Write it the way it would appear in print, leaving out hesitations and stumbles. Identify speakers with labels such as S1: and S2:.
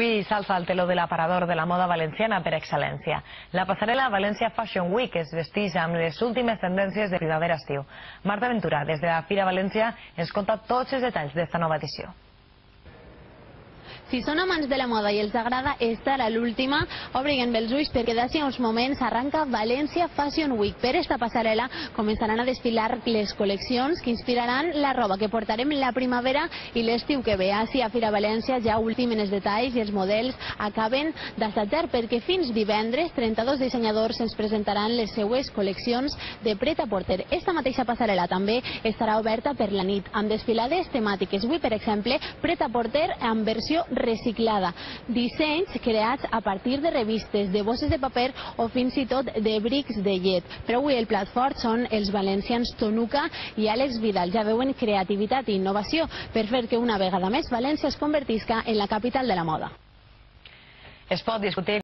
S1: Avui s'alça el teló de l'aparador de la moda valenciana per excel·lència. La passarel·la València Fashion Week es vesteix amb les últimes tendències de primavera-estiu. Marta Ventura, des de la Fira València, ens conta tots els detalls d'esta nova edició.
S2: Si són amants de la moda i els agrada estar a l'última, obriguen bé els ulls perquè d'ací a uns moments arranca València Fashion Week. Per esta passarel·la començaran a desfilar les col·leccions que inspiraran la roba que portarem la primavera i l'estiu que ve. Ací a Fira València ja ultimen els detalls i els models acaben d'assajar perquè fins divendres 32 dissenyadors ens presentaran les seues col·leccions de pret-a-porter. Esta mateixa passarel·la també estarà oberta per la nit amb desfilades temàtiques. Avui, per exemple, pret-a-porter en versió reciclada, dissenys creats a partir de revistes, de bosses de paper o fins i tot de brics de llet. Però avui el plat fort són els valencians Tonuca i Àlex Vidal. Ja veuen creativitat i innovació per fer que una vegada més València es convertisca en la capital de la moda.
S1: Es pot discutir